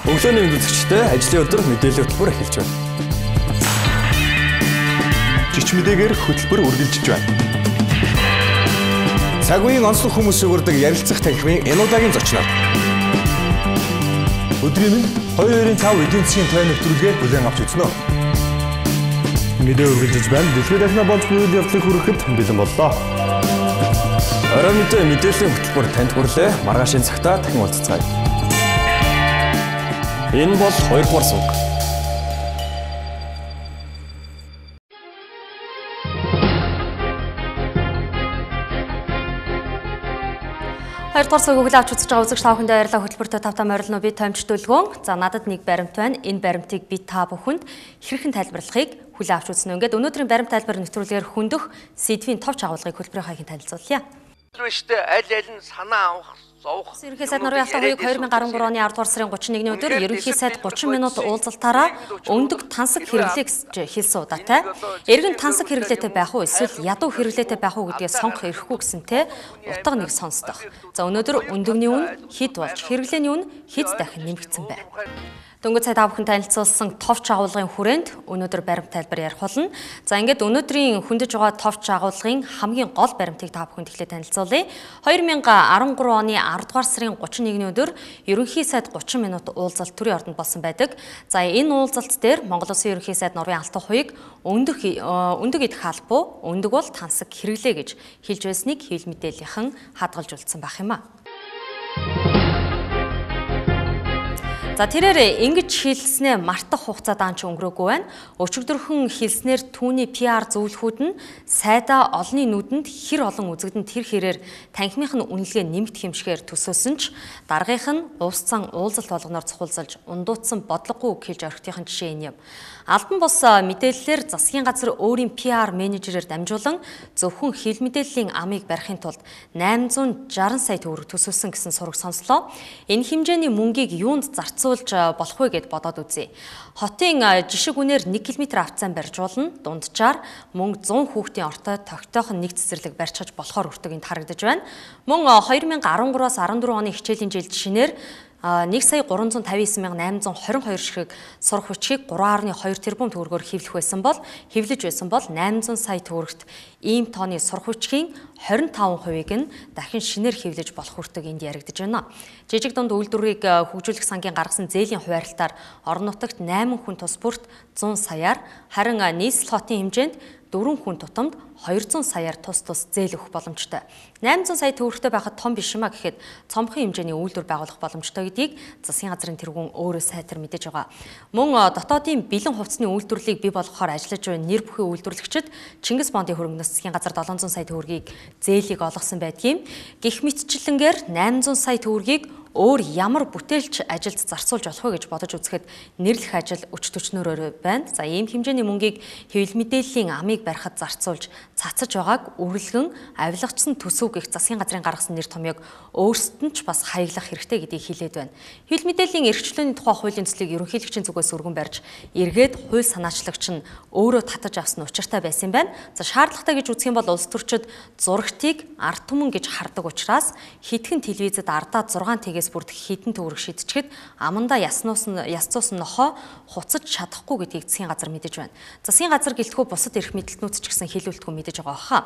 Өглөөний үзэгчтэй ажлын өдөр мэдээлэл хөтөлбөр эхэлж байна. Жич мэдээгээр хөтөлбөр үргэлжлэж байна. Цаг үеийн онцлог хүмүүс өгөрдөг ярилцах танхимын энэ удаагийн зочноор. Өдрийн 2-5 эдийн засгийн тойрны нэвтрүүлгээ бүлээн авч үзнэ. Мэдээ үргэлжлэж байна. Дэлхийд дахин болж буй үйл явдлыг хүрэхэд бэлэн боллоо. Орой мэдээллийн хөтөлбөр танд хүрлээ. Маргаашийн цагтаа дахин уулзцгаая. Энэ бол 2 дугаар сувг. Хоёрдугаар сувгийг хүлээн авч үзэж байгаа үзэгч та бүхэндээ баярлалаа. Хөтөлбөртөө тавтаа морилно би томч төлгөөн. За надад нэг баримт байна. Энэ баримтыг би та бүхэнд хэрхэн тайлбарлахыг хүлээн авч үзнэ. Ингээд өнөөдрийн баримт тайлбар нэвтрүүлгээр хөндөх сэдвийн товч агуулгыг хөтөлбөрийн хаягийн танилцуулъя. Штэ аль нь санаа авах зовх. Ерөнхий сайд Нурын Алтан хувийг 2013 оны 10 дугаар сарын 31-ний өдөр ерөнхий сайд 30 минут уулзалтаараа өндөг тансаг хэрэглээ гэж хэлсэн удаатай. Эргэн тансаг хэрэглээтэй байх уу эсвэл ядуу хэрэглээтэй байх уу гэдгийг сонгох эрхгүй гэсэнтэй утга нэг сонсдох. За өнөөдөр өндөгний үн хэд болж хэрэглээний үн хэд дахин нэмэгдсэн бэ? Дөнгөж цай та бүхэн танилцуулсан товч агуулгын хүрээнд өнөөдөр баримт тайлбар ярих болно. За ингээд өнөөдрийн хөндөж байгаа товч агуулгын хамгийн гол баримтыг та бүхэнд эхлээд танилцуулъя. 2013 оны 10 дугаар сарын 31-ний өдөр ерөнхий сайд 30 минут уулзалт төрийн ордонд болсон байдаг. За энэ уулзалт дээр Монгол Улсын ерөнхий сайд Нурын Алтан хувийг өндөг идэх албуу, өндөг бол тансаг хэрэглээ гэж хэлж байсныг хэвлэл мэдээллийнхэн хадгалжуулсан байх юм а. За тэрээр ингэж хэлснээ мартах хугацаа даанч өнгөрөөгүй байна. Өчигдөрхөн хэлснээр түүний PR зөвлөхүүд нь сайдаа олонний нүдэнд хэр олон үзэгдэн тэр хэрээр танхимынх нь үнэлгээ нэмэгдэх юмшгээр төсөөсөн ч дараагийнх нь улс цан уулзалт болгоноор цохиулзалж ундуудсан бодлогогүй үг хэлж орхитын жишээ энэ юм. Албан бус мэдээллээр засгийн газар өөрийн PR менежерээр дамжуулан зөвхөн хил мэдээллийн амыг барихын тулд 860 сая төгрөг төсөөсөн гэсэн сураг сонслоо. Энэ хэмжээний мөнгийг юунд зарцуулж болох вэ гэд бодоод үзье. Хотын жишг үнээр 1 км авцсан барьжуулна. Дунджаар мөн 100 хүүхдийн ортой тогтойхон нэг цэцэрлэг барьчихаж болохоор өртөг энд харагдаж байна. Мөн 2013-аас 14 оны хичээлийн жил жишээнээр 1,359,822 ширхэг сурах хүчийг 3.2 тэрбум төгрөгөөр хэвлэж байсан бол 800 сая төгрөгт ийм тооны сурах хүчгийн 25%-ийг нь дахин шинээр хэвлэж болох хүртэг энд яригдж байна. Жижиг дунд үйлдвэрийг хөгжүүлэх сангийн гаргасан зээлийн хуваарлалтаар орон нутагт 8 хүн тус бүрт 100 саяар, харин нийслэл хотын хэмжээнд 4 хүн тутамд 200 саяар тус зээл өгөх боломжтой. 800 сая төгрөгтэй байхад том биш юма гэхэд цомхон хэмжээний үйлдвэр байгуулах боломжтой гэдгийг засгийн газрын тэргүүн өөрөө сайтар мэдэж байгаа. Мөн дотоодын бэлэн хувцсны үйлдвэрлэлийг бий болгохоор ажиллаж буй нэр бүхий үйлдвэрлэгчид Чингис бондын хөрөнгөнөөс засгийн газар 700 сая төгрөгийг зээлийг олгосон байдгийн. Гэх мэтчлэнгээр 800 сая төгрөгийг өөр ямар бүтээлч ажилд зарцуулж болох вэ гэж бодож үзэхэд нэрлэх ажил өч төчнөөрөө байна. За ийм хэмжээний мөнгийг хэвлэл мэдээллийн амыг барихад зарцуулж цацаж байгааг үргэлгэн авилгачсан төсөв гэх засгийн газрын гаргасан нэр томьёог өөрсдөд нь ч бас хаяглах хэрэгтэй гэдгийг хэлээд байна. Хэвлэл мэдээллийн эрхчлөөний тухай хуулийн төслийг ерөнхийлөгчийн зүгээс өргөн барьж эргээд хууль санаачлагч нь өөрөө татаж авсан учиртай байсан юм байна. За шаардлагатай гэж үзэх юм бол улс төрчид зурагтыг ард түмэн гэж хардаг учраас хитгэн телевизэд ардаа 6 тэгээс бүрдэх хідэн төгрөг шидчихэд амандаа ясцуусан нохоо хуцаж чадахгүй гэдгийг засгийн газар мэдэж байна. Засгийн газар гэлтгүү бусад эрх мэдэлтнүүд ч гэсэн хэлүүлдэггүй мэдэж байгаа хаа.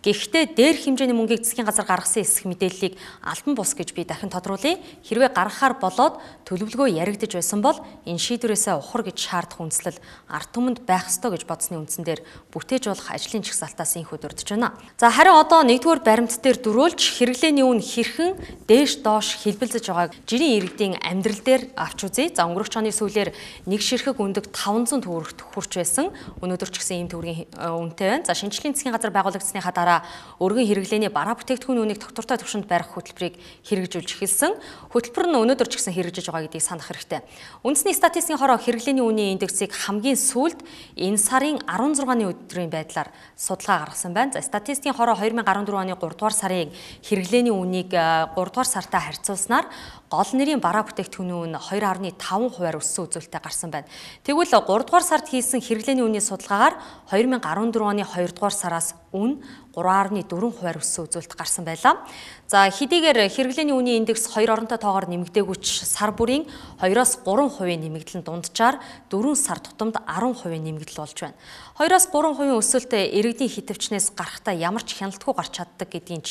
Гэхдээ дээр хэмжээний мөнгийг засгийн газар гаргасан эсэх мэдээллийг албан бус гэж би дахин тодруулъя. Хэрвээ гаргахаар болоод төлөвлөгөө яригдж байсан бол энэ шийдвэрээсээ ухар гэж шаардах үндслэл ард түмэнд байх ёстой гэж бодсны үндсэн дээр бүтээж болох ажлын чагсаалтаас инх өдөрдөж байна. За харин одоо нэгдүгээр баримт дээр дөрүүлж хэрэглээний үн хэрхэн дээш доош хэлбэлзэж байгааг жирийн иргэдийн амьдрал дээр авч үзье. За өнгөрөх оны сүүлээр нэг ширхэг өндөг 500 төгрөгт хүрч байсан. Өнөөдөр ч гэсэн ийм төгрөгийн үнэтэй байна. За шинжлэлийн засгийн газар байгуулагдсныхаа дараа өргөн хэрэглээний бараа бүтээгдэхүүн үнийг тогтвортой түвшинд барих хөтөлбөрийг хэрэгжүүлж эхэлсэн. Хөтөлбөр нь өнөөдөр ч гэсэн хэрэгжиж байгаа гэдгийг санах хэрэгтэй. Үндэсний статистикийн хороо хэрэглээний үнийн индексийг хамгийн сүүлд энэ сарын 16-ны өдрийн байдлаар судалгаа гаргасан байна. За статистикийн хороо 2014 оны 3 дугаар сарын хэрэглээний үнийг 3 дугаар сартай харьцуулснаар гол нэрийн бараа бүтээгдэхүүний үн 2.5% өссөн үзүүлэлттэй гарсан байна. Тэгвэл 3 дугаар сард хийсэн хэрэглээний үнийн судалгаагаар 2014 оны 2 дугаар сараас үн 3.4% өссөн үзүүлэлт гарсан байлаа. За хэдийгээр хэрэглээний үнийн индекс 2 оронтой тоогоор нэмэгдээгүйч сар бүрийн 2-3% нэмэгдэл нь дунджаар 4 сар тутамд 10% нэмэгдэл болж байна. 2-3% өсөлт иргэдийн хитвчнээс гарахтаа ямар ч хяналтгүй гарч чаддаг гэдгийн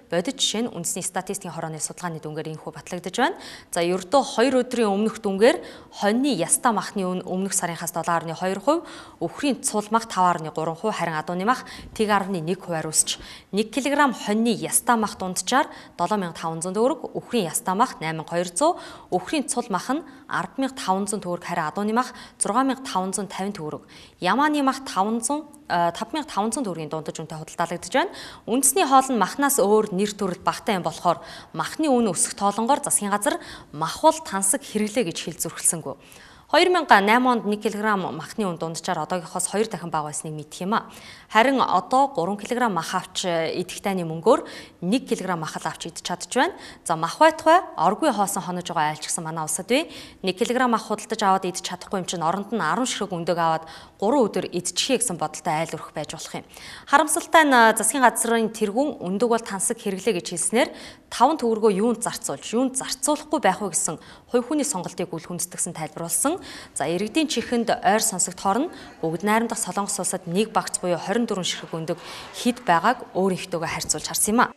бодит жишээ нь үндэсний статистикийн хорооны судалгааны дүнгээр инхүү батлагдаж байна. За ердөө 2 өдрийн өмнөх дүнгээр хоньны ястаа махны үн өмнөх сарынхаас 7.2%, өвхрийн цул мах 5.3%, харин адууны мах 1.1% өсч 1 кг хоньны ястаа мах дунджаар 7500 төгрөг, өвхрийн ястаа мах 8200, өвхрийн цул мах нь 10500 төгрөг, харин адууны мах 6550 төгрөг, ямааны мах 5500 төгрөгийн дундаж үнэтэй худалдаалагдаж байна. Үндэсний хоол нь махнаас өөр нэр төрөл багтаа юм болохоор махны үн өсөх тоолонгоор засгийн газар махбол тансаг хэрэглээ гэж хэл зүрхэлсэнгүй. 2008 онд 1 кг махны үн дунджаар одоогийнхоос 2 дахин бага байсныг мэдэх юм а. Харин одоо 3 кг мах авч идэх тайны мөнгөөр 1 кг мах авч идэж чадж байна. За мах байтугай оргүй хоосон хонож байгаа айлчсан манай улсад бий 1 кг мах худалдаж аваад идэж чадахгүй юм чинь оронд нь 10 ширхэг өндөг аваад 3 өдөр идчихье гэсэн бодолтой айл өрөх байж болох юм. Харамсалтай нь засгийн газрын тэргүүн өндөг бол тансаг хэрэглээ гэж хэлснээр 5 төгрөгөө юунд зарцуулахгүй байх вэ гэсэн хувь хүний сонголтыг үл хүндэтгсэн тайлбарлсан. За иргэдийн чихэнд ойр сонсогдохоор нь бүгд найрамдах Солонгос улсад нэг багц буюу 24 ширхэг өндөг хэд байгааг өөрийнхтөөгөө харьцуулж харсан юм а.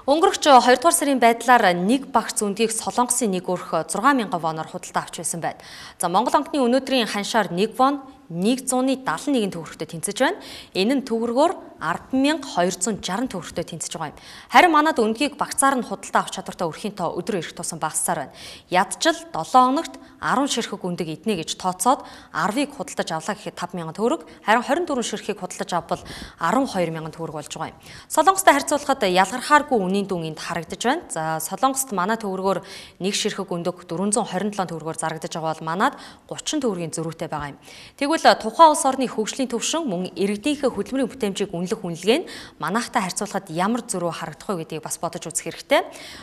Өнгөрөх 2 дугаар сарын байдлаар нэг багц үндгийг Солонгосын нэг өрх 6000 воноор худалдаа авч байсан байна. За Монгол банкны өнөөдрийн ханшаар 1 вон 171 төгрөгтэй тэнцэж байна. Энэ нь төгрөгөөр 10,260 төгрөгтэй тэнцэж байгаа юм. Харин манад үндгийг багцаар нь худалдаа авах чадвартай өрхийн тоо өдрөө ирэх тусам багассаар байна. Ядчил 7 хоногт 10 ширхэг үндэг иднэ гэж тооцоод 10-ыг худалдаж авлаа гэхэд 5,000 төгрөг, харин 24 ширхгийг худалдаж авбал 12,000 төгрөг болж байгаа юм. Солонгостой харьцуулахад ялгархааргүй үнийн дүн энд харагдаж байна. За Солонгост манай төгрөгөөр 1 ширхэг өндөг 427 төгрөгөөр зарагдаж байгаа бол манад 30 төгрөгийн зөрүүтэй байгаа юм. Тэгвэл тухайн улс орны хөгжлийн төвшин мөн иргэдийнхээ хөдөлмөрийн бүтээмжийг үнэлэх үнэлгээ нь манайхтай харьцуулахад ямар зөрүү харагдах вэ гэдгийг бас бодож үзэх хэрэгтэй.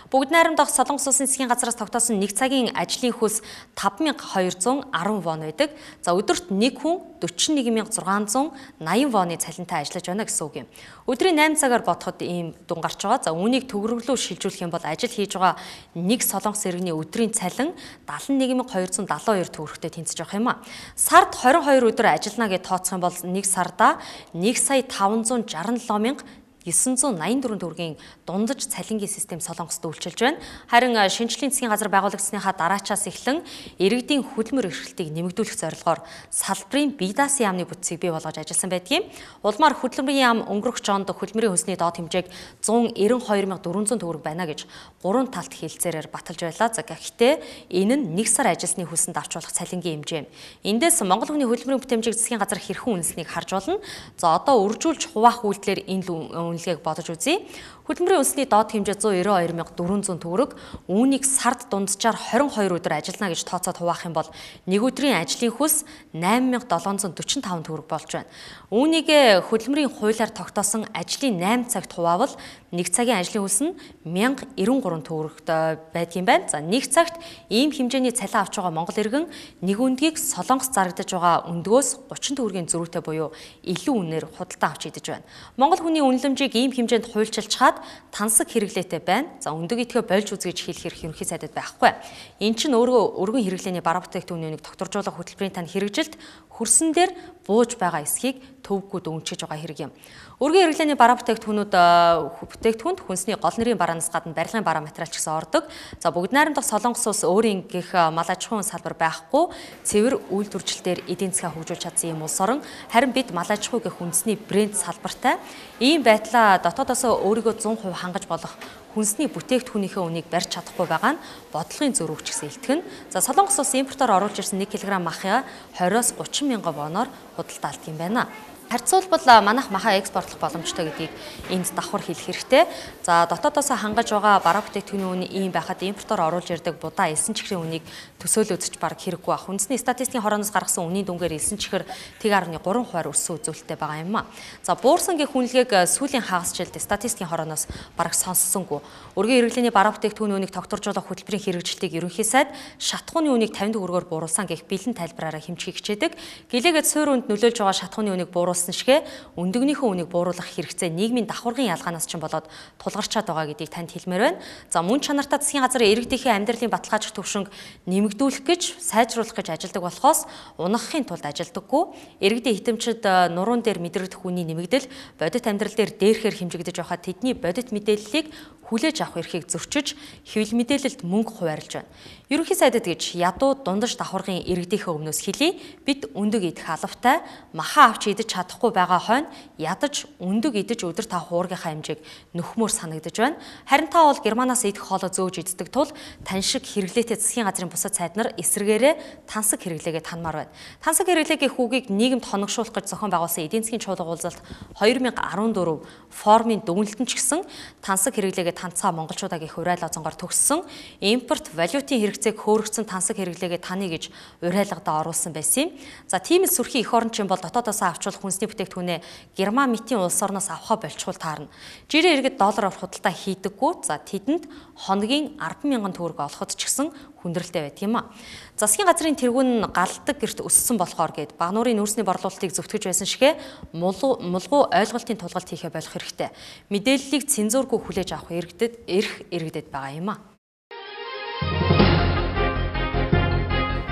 Бүгд найрамдах Солонгос улсын засгийн газраас тогтоосон 1 цагийн ажлын хөлс 5210 вон байдаг. За өдөрт нэг хүн 41680 воны цалинтай ажиллаж байна гэсэн үг юм. Өдрийн 8 цагаар бодоход ийм дүн гарч байгаа. За үүнийг төгрөглөө шилжүүлэх юм бол ажил хийж байгаа нэг солонгос иргэний өдрийн цалин 71272 төгрөгтэй тэнцэж байгаа юм а. Сард 22 өдөр ажиллана гэж тооцох юм бол нэг сарда 1,567,984 төгрөгийн дундаж цалингийн систем Солонгост үйлчилж байна. Харин шинжлэлийн засгийн газар байгуулагдсныхаа дараачаас эхлэн иргэдийн хөдөлмөр эрхлэлтийг нэмэгдүүлэх зорилгоор салбарын бие даасан яамны бүтцийг бий болгож ажилласан байдгийг. Улмаар хөдөлмөрийн яам өнгөрөх жонд хөдөлмөрийн хүнсний доод хэмжээг 192,400 төгрөг байна гэж гурван талт хэлцээрээр баталж байлаа. За гэхдээ энэ нь нэг сар ажилсны хөлсөнд авч болох цалингийн хэмжээ. Эндээс Монгол хүний хөдөлмөрийн бүтэмжийг засгийн газар хэрхэн үнэлсэнийг харж болно. За одоо үржүүлж хуваах үйлдэлээр энэ үнэлгээг бодож үзье. Хөдөлмөрийн үндэсний доод хэмжээ 192,400 төгрөг. Үүнийг сард дунджаар 22 өдөр ажиллана гэж тооцоод хуваах юм бол нэг өдрийн ажлын хөлс 8,745 төгрөг болж байна. Үүнийг хөдөлмөрийн хуулиар тогтоосон ажлын 8 цагт хуваавал нэг цагийн ажлын хөлс нь 1093 төгрөгтэй байдгийн байна. За нэг цагт ийм хэмжээний цалин авч байгаа монгол иргэн нэг өндгийг Солонгос зарагдаж байгаа өндгөөс 30 төгрөгийн зөрүүтэй буюу илүү үнээр худалдаа авч идэж байна. Монгол хүний үнэлэмжийг ийм хэмжээнд хуульчилж чад тансаг хэрэглээтэй байна. За өндөг идэхэ болж үз гэж хэлэх хэрэг ерөнхий сайдад байхгүй. Эн чинь өөрөө өргөн хэрэглээний бараа бүтээгдэхүүнийг тогтворжуулах хөтөлбөрийн тань хэрэгжилт хөрсөн дээр бууж байгаа эсхийг төвгүүд өнгөчж байгаа хэрэг юм. Өргөн хэрэглээний бараа бүтээгдэхүүнд хүнсний гол нэрийн бараанаас гадна барилгын бараа материал ч гэсэн ордог. За бүгд найрамдах Солонгос улс өөрийн гих мал аж ахуйн салбар байхгүй цэвэр үйлдвэржилтээр эдийн засгаа хөгжүүлж чадсан юм улс орон харин бид мал аж ахуй гэх үндэсний брэнд салбартай ийм байдлаа дотоодоос өөрийгөө 100% хангаж болох хүнсний бүтээгдэхүүнийхээ үнийг барьж чадахгүй байгаа нь бодлогын зөрүүч гэсэн илтгэн. За Солонгос улс импортоор оруулж ирсэн 1 кг махыг 20-30 мянган воноор худалдаалдаг юм байна. Харьцуулбал манайх маха экспортлох боломжтой гэдгийг энд давхар хэлэх хэрэгтэй. За дотоодоос хангаж байгаа бараа бүтээгдэхүүний үн ийм байхад импортоор оруулж ирдэг будаа элсэн чихрийн үнийг төсөөлө үзэж баг хэрэггүй ах. Үндэсний статистикийн хорооноос гаргасан үнийн дүнгээр элсэн чихэр 1.3% өссөн үзүүлэлттэй байгаа юм а. За буурсангийн хүнлэгийг сүүлийн хагас жилд статистикийн хорооноос бараг сонссонгүй. Өргөн хэрэглээний бараа бүтээгдэхүүний үнийг тогтворжуулах хөтөлбөрийн хэрэгжилтийг ерөнхий сайд шатхууны үнийг 50 төгрөгөөр бууруулсан гэх бэлэн тайлбараараа хэмжихийг хичээдэг. Гэлээгээд суурь үнд нөлөөлж байгаа шатхууны үнийг бууруулсан шигэ өндөгнийхөө үнийг бууруулах хэрэгцээ нийгмийн давхаргын ялгаанаас ч болоод тулгарчаад байгаа гэдгийг танд хэлмээр байна. За мөн чанартай засгийн газрын иргэдийнхээ амьдралын баталгаажих төвшинг нэмэгдүүлэх гэж сайжруулах гэж ажилдаг болохоос унахын тулд ажилдаггүй. Иргэдийн хитэмчид нуруунд дээр мэдрэгдэх үний нэмэгдэл бодит амьдрал дээр дээрхээр хэмжигдэж байхад тэдний бодит мэдээллийг хүлээж авах эрхийг зөрчиж хэвлэл мэдээлэлд мөнгө хуваарлж байна. Ерөнхий сайдад гэж ядуу дундаж давхаргын иргэдийнхээ өмнөөс хэлий бид өндөг идэх алавтай маха авч идэж чадахгүй байгаа хойно ядаж өндөг идэж өдөр 5 хуургийнхаа хэмжээг нөхмөр санагдаж байна. Харин та бол Германаас идэх хоолой зөөж иддэг тул тань шиг хэрэглээтэй засгийн газрын бусад сайд нар эсрэгээрээ тансаг хэрэглээгээ танмаар байна. Тансаг хэрэглээгийн хүүгийг нийгэмд хоногшуулах гэж зохион байгуулсан эдийн засгийн чуулга уулзалт 2014 формын дүгнэлтэн ч гэсэн тансаг хэрэглээгээ танцаа монголчуудаа гэх уриалга зонгоор төгссөн импорт валютын хэрэгцээг хөөргөцсөн тансаг хэрэглээгээ таны гэж уриалгадаа оруулсан байсан юм. За тийм л сүрхий эх орончин бол дотоодоос авчвал хүнсний бүтээгдэхүүнээ Герман мэтийн улс орноос авахаа болчхул таарна. Жирийн иргэд доллар авах худалдаа хийдэггүй. За тэдэнд хоногийн 10,000 төгрөг олоход ч гэсэн хүндрэлтэй байт юм а. Засгийн газрын тэргүүн галдаг гэрт өссөн болохоор гээд багнуурын нүүрсний борлуулалтыг зөвтгөж байсан шигэ мулгуу ойлголтын тулгалт хийхэ болох хэрэгтэй. Мэдээллийг цензуургүй хүлээж авах иргэдэд байгаа юм а.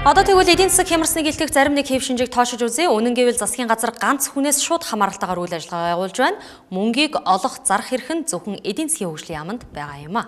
Одоо тэгвэл эдийн засаг хямрсныг илтгэх зарим нэг хэв шинжийг тоошиж үзье. Үнэн гэвэл засгийн газар ганц хүнээс шууд хамааралтайгаар үйл ажиллагаа явуулж байна. Мөнгийг олох зарах эрх нь зөвхөн эдийн засгийн хөгжлийн яамд байгаа юм а.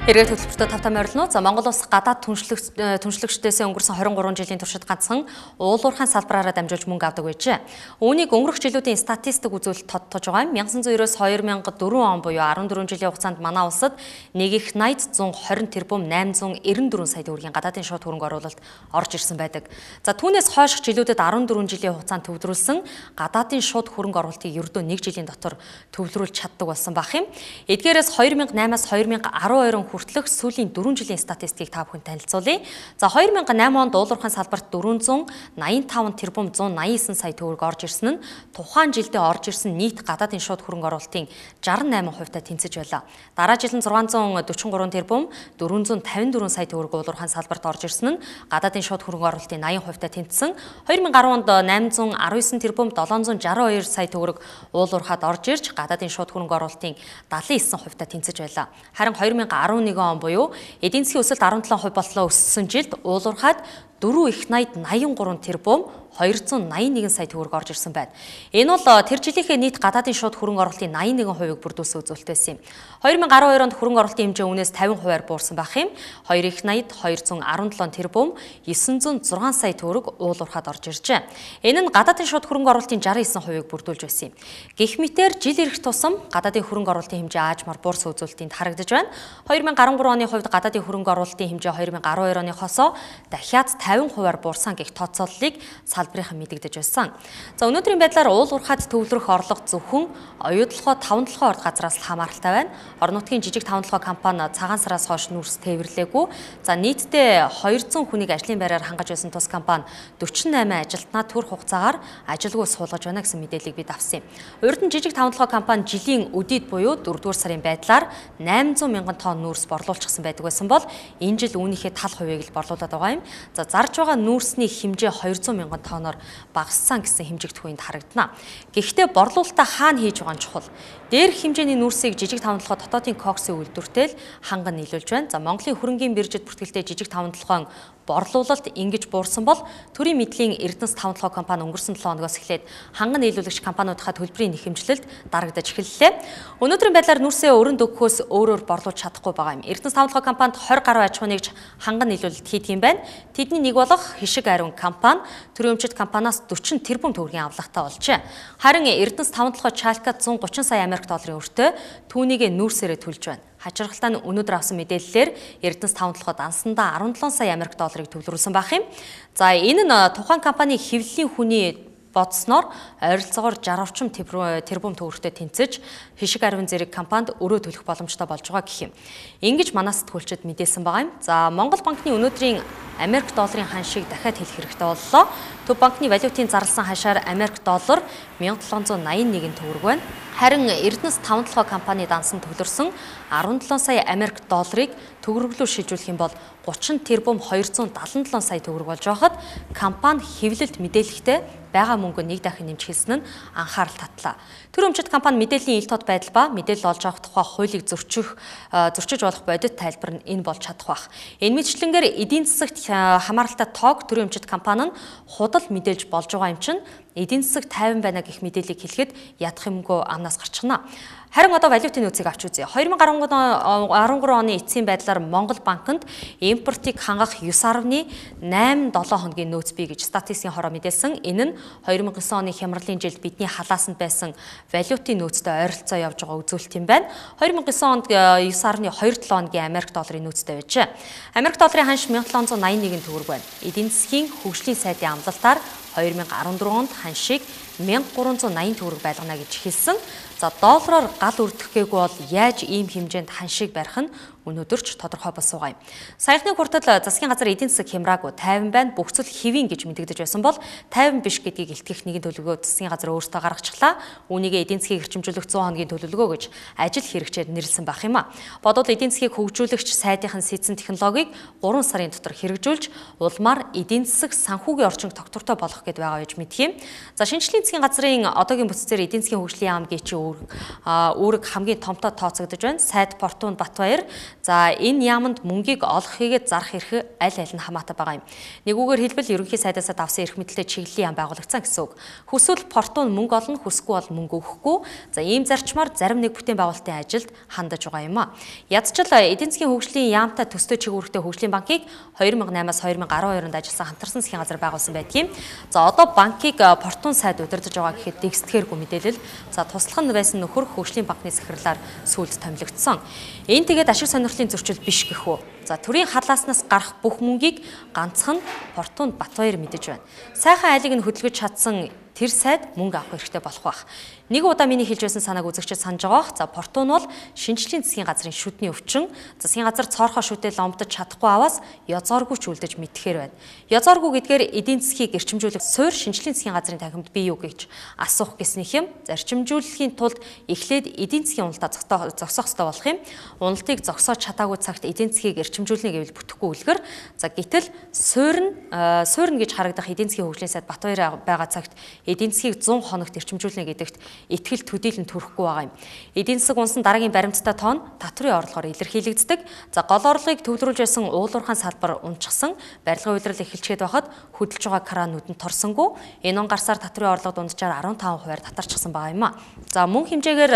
Эргээд хөтөлбөртөө тавтан морилно. За Монгол улс гадаад түншлэгчдээс өнгөрсөн 23 жилийн туршид ганцхан уулуурхайн салбараараа дамжуулж мөнгө авдаг байжээ. Үүнийг өнгөрөх жилүүдийн статистик үзүүлэлт тодтож байгаа юм. 1990-оос 2004 он буюу 14 жилийн хугацаанд манай улсад нэг их 80 120 тэрбум 894 сая төгрөгийн гадаадын шууд хөрөнгө оруулалт орж ирсэн байдаг. За түүнээс хойших жилүүдэд 14 жилийн хугацаанд төвлөрүүлсэн гадаадын шууд хөрөнгө оруулалтыг ердөө 1 жилийн дотор төвлөрүүлж чаддаг болсон байх юм. Эдгээрээс 2008-аас 2012 хүртэлх сүүлийн 4 жилийн статистикийг та бүхэнд танилцуулъя. За 2008 онд уулуурхайн салбарт 485 тэрбум 189 сая төгрөг орж ирсэн нь тухайн жилдээ орж ирсэн нийт гадаадын шууд хөрөнгө оруулалтын 68%-тай тэнцэж байлаа. Дараа жил нь 643 тэрбум 454 сая төгрөг уулуурхайн салбарт орж ирсэн нь гадаадын шууд хөрөнгө оруулалтын 80%-тай тэнцсэн. 2010 онд 819 тэрбум 762 сая төгрөг уулуурхад орж ирж гадаадын шууд хөрөнгө оруулалтын 79%-тай тэнцэж байлаа. Харин 2011 он буюу эдийн засгийн өсөлт 17% болтлоо өссөн жилд уулуурхад 4 их 83 тэрбум 281 сая төгрөг орж ирсэн байна. Энэ бол тэр жилийнхээ нийт гадаадын шууд хөрөнгө оруулалтын 81%-ыг бүрдүүлсэн үзүүлэлт байсан юм. 2012 онд хөрөнгө оруулалтын хэмжээ үнээс 50%-аар буурсан байх юм. 2 их 80 217 тэрбум 906 сая төгрөг уулуурхад орж иржээ. Энэ нь гадаадын шууд хөрөнгө оруулалтын 69%-ыг бүрдүүлж байсан юм. Гэх мэтээр жил ирэх тусам гадаадын хөрөнгө оруулалтын хэмжээ аажмаар буурсан үзүүлэлтинд харагдаж байна. 2013 оны хувьд гадаадын хөрөнгө оруулалтын хэмжээ 2012 оны хосоо дахиад 50%-аар буурсан гэх тооцооллыг салбарынхан мэдэгдэж байсан. За өнөөдрийн байдлаар уулуурхад төвлөрөх орлого зөвхөн оюутлогоо 5 толгой орд газраас л хамааралтай байна. Орон нутгийн жижиг 5 толгой компани цагаан сараас хойш нүүрс тээвэрлээгүй. За нийтдээ 200 хүнийг ажлын байраар хангаж байсан тус компани 48 ажилтнаа төр хугацаагаар ажилгүй суулгаж байна гэсэн мэдээллийг бид авсан юм. Урд нь жижиг 5 толгой компани жилийн өдийд буюу 4-р сарын байдлаар 800 мянган тонн нүүрс борлуулчихсан байдаг байсан бол энэ жил үүнийхээ тал хувийг л борлуулад байгаа юм. За зарж байгаа нүүрсний хэмжээ 200 мянган тонноор багассан гэсэн хэмжигдэх үеинд харагдана. Гэхдээ борлуулалтаа хаана хийж байгаа нь чухал. Дээрх хэмжээний нүүрсийг жижиг 5 толгой дотоодын коксын үйлдвэртэй л ханган нийлүүлж байна. За Монголын хөрөнгийн биржид бүртгэлтэй жижиг 5 толгойн борлуулалт ингэж буурсан бол төрийн мэдлийн Эрдэнэс 5 толгой компани өнгөрсөн 7 хоногоос эхлээд ханган нийлүүлэгч компаниудынхаа төлбөрийн нэхэмжлэлд дарагдаж эхэллээ. Өнөөдрийн байдлаар нүүрсээ өрөнд өгөхөөс өөрөөр борлуулж чадахгүй байгаа юм. Эрдэнэс 5 толгой компанид 20 гаруй аж ахуй нэгж ханган нийлүүлэлт хийдэг юм байна. Тэдний нэг болох Хишиг Ариун компани төрийн өмчит компаниас 40 тэрбум төгрөгийн авлагатай болжээ. Харин Эрдэнэс 5 толгой Чалкад 130 сая Америк долларын өртөө түүнийг нүүрсээрээ төлж байна. Хачиргалтай нь өнөөдөр авсан мэдээллээр Эрдэнэс таван толгойд ансандаа 17 сая Америк долларыг төвлөрүүлсэн байх юм. За энэ нь тухайн компани хэвлэлийн хүний бодсноор ойролцоогоор 60 орчим тэрбум төгрөгтэй тэнцэж хишиг аривын зэрэг компанид өрөө төлөх боломжтой болж байгаа гэх юм. Ингэж манай сэтгүүлчид мэдээлсэн байгаа юм. За Монгол банкны өнөөдрийн Америк долларын ханшийг дахиад хэлэх хэрэгтэй боллоо. Төв банкны валютын зарласан хашаар Америк доллар 1781 төгрөг байна. Харин Эрдэнэс таван толгой компани дансан төвлөрсөн 17 сая Америк долларыг төгрөглөөр шилжүүлэх юм бол 30 тэрбум 277 сая төгрөг болж байхад компани хэвлэлд мэдээлэхдээ байгаа мөнгө нэг дахин нэмж хэлсэн нь анхаарал татлаа. Тэр өмчит компани мэдээллийн ил тод байдал ба мэдээлэл олж авах тухай хуулийг зөрчиж болох бодит тайлбар нь энэ болж чадах байх. Энэ мэтчлэнгээр эдийн засагт хамааралтай тоог тэр өмчит компани нь худал мэдээлж болж байгаа юм чинь эдийн засаг тайван байна гэх мэдээллийг хэлэхэд ядах юмгүй амнаас гарчихна. Харин одоо валютын нөөцийг авч үзье. 2013 оны эцсийн байдлаар Монгол банкнд импортыг хангах 9.87 хоногийн нөөц бий гэж статистикийн хороо мэдээлсэн. Энэ нь 2009 оны хямралын жилд бидний халаасанд байсан валютын нөөцтэй ойролцоо явж байгаа үзүүлэлт юм байна. 2009 онд 9.27 хоногийн Америк долларын нөөцтэй байжээ. Америк долларын ханш 1781 төгрөг байна. Эдийн засгийн хөгжлийн сайдын амлалтаар 2014 онд ханшийг 1380 төгрөг байлгана гэж хэлсэн. За доллараар гал өрдөхгээгүй бол яаж ийм хэмжээнд ханшийг барих нь өнөөдөр ч тодорхой болсон байгаа юм. Саяхны хүртэл засгийн газар эдийн засаг хямраагүй 50 байна, бүх зүйл хэвийн гэж мэдэгдэж байсан бол 50 биш гэдгийг илтгэх нэгэн төлөвлөгөө засгийн газар өөртөө гаргачихлаа. Үүнийг эдийн засгийг эрчимжүүлэх 100 хоногийн төлөвлөгөө гэж ажил хэрэгжээд нэрлсэн байх юм а. Бодвол эдийн засгийг хөгжүүлэгч сайдынхан сэдсэн технологиг 3 сарын дотор хэрэгжүүлж улмаар эдийн засаг санхүүгийн орчинг тогтвортой болгох гэдээ байгаа гэж мэдх юм. За шинжлэлийн засгийн газрын одоогийн бүтцээр эдийн засгийн хөгжлийн яам гэж үүрэг хамгийн томтой тооцогдож байна. Сайд Портун Батбаяр. За энэ яамд мөнгийг олох хийгээд зарах эрх аль аль нь хамаатай байгаа юм. Нэгүгээр хэлбэл ерөнхий сайдаас авсан эрх мэдэлтэй чиглэлийн яам байгуулагдсан гэсэн үг. Хүсвэл Портун мөнгө олно, хүсэхгүй бол мөнгө өгөхгүй. За ийм зарчмаар зарим нэг бүтээн байгуулалтын ажилд хандаж байгаа юм а. Ядчил эдийн засгийн хөгжлийн яамтай төстэй чиглэлтэй хөгжлийн банкыг 2008-аас 2012 онд ажилласан хамтарсан засгийн газар байгуулсан байдгийг. За одоо банкыг Портун сайд удирдах байгаа гэхэд дэгсдэхэргүй мэдээлэл. За туслах нь байсан нөхөр хөгжлийн банкны захирлаар сүүлд томилогдсон. Энэ тэгээд ашиг сонирхлын зөрчил биш гэх үү. За төрийн халааснаас гарах бүх мөнгийг ганцхан Портун Батбаяр мэдэж байна. Сайхан айлыг нь хөдөлгөж чадсан тэр сайд мөнгө авах хэрэгтэй болох байх. Нэг удаа миний хэлж байсан санааг үзэгчид санаж байгаа. За Портун бол шинжлэлийн засгийн газрын шүдний өвчин. Засгийн газар цоорхоо шүдэл ломдож чадахгүй аваас язооргүй ч үлдэж мэдхээр байна. Язооргүй гэдгээр эдийн засгийг эрчимжүүлэх суурь шинжлэлийн засгийн газрын танхимд бий юу гэж асуух гэснийх юм. Зарчимжуулахын тулд эхлээд эдийн засгийн уналтаа зогсоох ёстой болох юм. Уналтыг зогсоож чадаагүй цагт эдийн засгийг эрчимжүүлнэ гэвэл бүтэхгүй үлгэр. За гэтэл суурь гэж харагдах эдийн засгийн хөгжлийн сайд Батбаяр байгаа цагт эдийн засгийг 100 хоногт эрчимжүүлнэ гэдэгт итгэл төдийлөн төрөхгүй байгаа юм. Эдийн засаг унсан дараагийн баримттай тоон татврын орлогоор илэрхийлэгддэг. За гол орлогыг төвлөрүүлж байсан уулуурхайн салбар унчсан, барилгын удирдал эхэлчихэд байхад хөдөлж байгаа краанууд нь торсонгүй. Энэ он гарсаар татврын орлого дунджаар 15% татарчихсан байгаа юм а. За мөн хэмжээгээр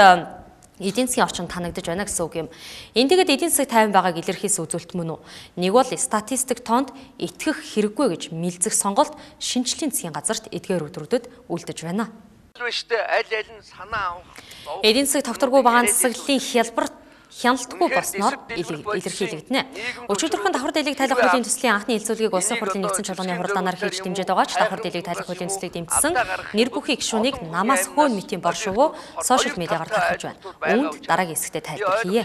эдийн засгийн орчин танагдаж байна гэсэн үг юм. Энэ тэгээд эдийн засаг тайван байгааг илэрхийлсэн үзүүлэлт мөн үү? Нэг бол статистик тоонд итгэх хэрэггүй гэж мэлзэх сонголт шинжлэлийн засгийн газарт эдгээр өдрүүдэд үлдэж байна. Аль аль нь санаа авах. Эдийн засаг тогтворгүй багаан засаглалын хяналтгүй болсноор илэрхийлэгдэнэ. Өчигдөрхөн давхар дэлийг тайлах хуулийн төслийн анхны хэлцүүлгийг улсын хурлын нэгдсэн чуулганы хуралдаанаар хийж дэмжиж байгаа ч давхар дэлийг тайлах хуулийн төслийг дэмжсэн нэр бүхий гишүүнийг намаас хөөн митийн бор шувуу сошиал медиагаар тархаж байна. Үүнд дараагийн хэсэгтээ тайлбар хийе.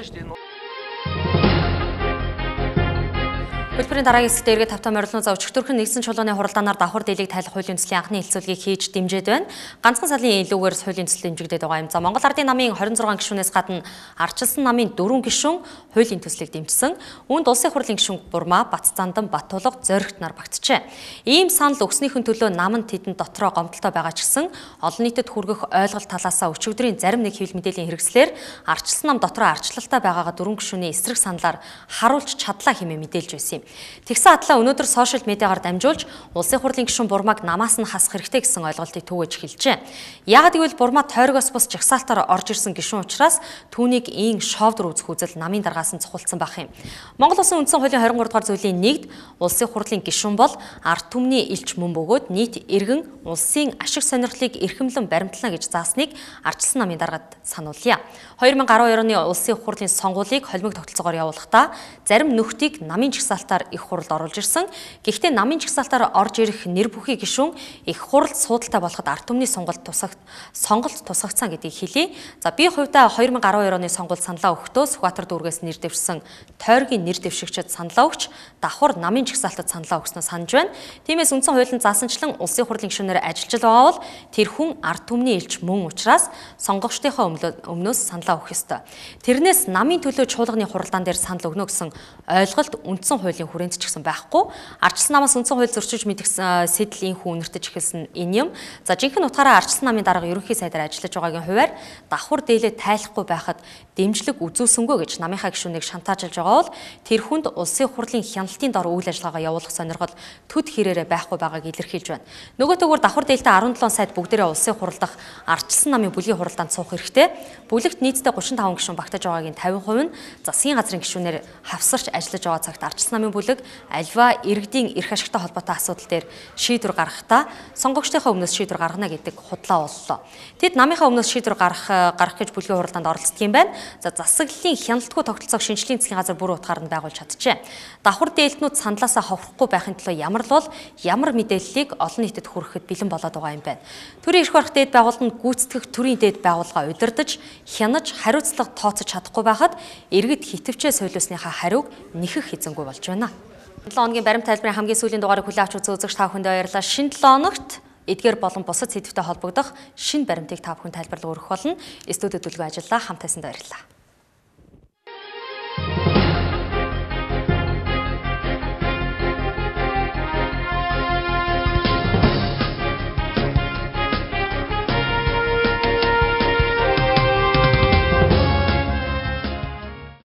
Хөлбөрийн дараагийн хэсэгт эргээд тавтаа морилно. За өчигдөрхөн нэгдсэн чуулганы хуралдаанаар давхар дэлийг тайлах хуулийн төслийн анхны хэлцүүлгийг хийж дэмжиж байна. Ганцхан салын илүүгээр хуулийн төсөл дэмжигдээд байгаа юм. За Монгол Ардын намын 26 гишүүнээс гадна ардчилсан намын 4 гишүүн хуулийн төслийг дэмжсэн. Үүнд улсын хурлын гишүүн Бурмаа, Баццандан, Батулга, Зоригт нар багтжээ. Ийм санал өгснийхэн төлөө намын тэдэнд дотроо гомдолтой байгаа ч гэсэн олон нийтэд хүргэх ойлголт талаасаа өчигдрийн зарим нэг хэвлэл мэдээллийн хэрэгслээр ардчилсан нам дотроо ардчлалтай байгаагаа 4 гишүүний эсрэг саналаар харуулж чадлаа хэмээн мэдээлж байсан юм. Тэгсэн атлаа өнөөдөр сошиал медиагаар дамжуулж улсын хурлын гишүүн Бурмаг намаас нь хасах хэрэгтэй гэсэн ойлголтыг түгэж хэлжээ. Яагад гэвэл Бурмаа тойрогоос бус жагсаалтаар орж ирсэн гишүүн учраас түүнийг ийн шовдор үзэх үзэл намын даргаас нь цухалдсан байх юм. Монгол Улсын үндсэн хуулийн 23 дугаар зүйлийн 1-д улсын хурлын гишүүн бол ард түмний элч мөн бөгөөд нийт иргэн улсын ашиг сонирхлыг эрхэмлэн баримтлана гэж заасныг ардчилсан намын даргад сануулъя. 2012 оны улсын хурлын сонгуулийг холимог тогтолцоогоор явуулахдаа зарим нөхдийг намын жагсаалтаар их хуралд оруулж ирсэн. Гэхдээ намын жагсаалтаар орж ирэх нэр бүхий гишүүн их хуралд суудалтай болоход ард түмний сонголт тусгацсан гэдгийг хэлье. За би хувьдаа 2012 оны сонгуульд саналаа өгөхдөө Сүхбаатар дүүргээс нэр дэвшсэн тойргийн нэр дэвшигчид саналаа өгч давхар намын жагсаалтад саналаа өгснөө санаж байна. Тиймээс үндсэн хуулийн заасанчлан улсын хурлын гишүүнээр ажиллаж байгаа бол тэр хүн ард түмний элч мөн учраас сонгогчдынхоо өмнөөс саналаа өгөх ёстой. Тэрнээс намын төлөө чуулганы хуралдаан дээр санал өгнө гэсэн ойлголт үндсэн хуулийн хүрээнд ч гэсэн байхгүй. Ардчилсан намаас үндсэн хууль зөрчиж мэдгсэн сэтэл инхүү үнэртэж эхэлсэн энэ юм. За жинхэнэ утгаараа ардчилсан намын дарга ерөнхий сайдаар ажиллаж байгаагийн хувьар давхар дээлээ тайлахгүй байхад дэмжлэг үзүүлсэнгүй гэж намынхаа гишүүнийг шантаажлж байгаа бол тэр хүнд улсын хурлын хяналтын дор үйл ажиллагаагаа явуулах сонирхол төд хэрээрээ байхгүй байгааг илэрхийлж байна. Нөгөө төгөөр давхар дээлтэй 17 сайд бүгдээрээ улсын хуралдах ардчилсан намын бүлгийн хуралдаанд суух хэрэгтэй. Бүлэгт нийтдээ 35 гишүүн багтаж байгаагийн 50% нь засгийн газрын гишүүнээр хавсарч ажиллаж байгаа цагт ардчилсан намын бүлэг альва иргэдийн эрх ашигтай холбоотой асуудал дээр шийдвэр гаргахдаа сонгогчдынхаа өмнөөс шийдвэр гаргана гэдэг худлаа боллоо. Тэд намынхаа өмнөөс шийдвэр гаргах гэж бүлгийн хуралдаанд оролцдог юм байна. За засаглалын хяналтгүй тогтолцоог шинжлэлийн засгийн газар бүр утгаар нь байгуулж чаджээ. Давхар дээлтнүүд саналаасаа ховрохгүй байхын тулд ямар л бол ямар мэдээллийг олон нийтэд хүрэхэд бэлэн болоод байгаа юм байна. Төрийн эрх барих дээд байгууллаганд гүйцэтгэх төрийн дээд байгууллага удирдах, хянаж, хариуцлага тооцож чадахгүй байхад иргэд хитвчээ сойлоосныхаа хариуг нэхэх эзэнгүй болж байна. 7 хоногийн баримт тайлбарын хамгийн сүүлийн дугаарыг хүлээн авч үзэгч та бүхэнд баярлалаа. Шинэ 7 хоногт эдгээр болон бусад сэдвтэй холбогдох шинэ баримтыг та бүхэн тайлбарлан өргөх болно. Студид төлгөө ажиллаа хамт тайсанд баярлалаа.